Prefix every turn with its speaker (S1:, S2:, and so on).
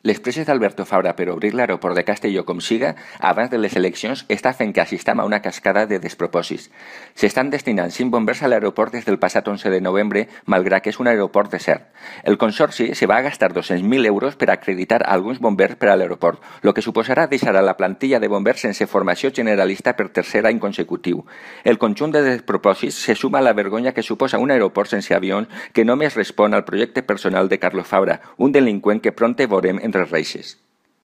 S1: Les presses d'Alberto Fabra per obrir l'aeroport de Castelló com siga abans de les eleccions està fent que assistam a una cascada de despropòsits. S'estan destinant 5 bombers a l'aeroport des del passat 11 de novembre, malgrat que és un aeroport desert. El consorci se va a gastar 200.000 euros per acreditar alguns bombers per a l'aeroport, el que suposarà deixar a la plantilla de bombers sense formació generalista per tercer any consecutiu. El conjunt de despropòsits se suma a la vergonya que suposa un aeroport sense avions que només respon al projecte personal de Carlos Fabra, un delinqüent que prompte veurem entre reixes.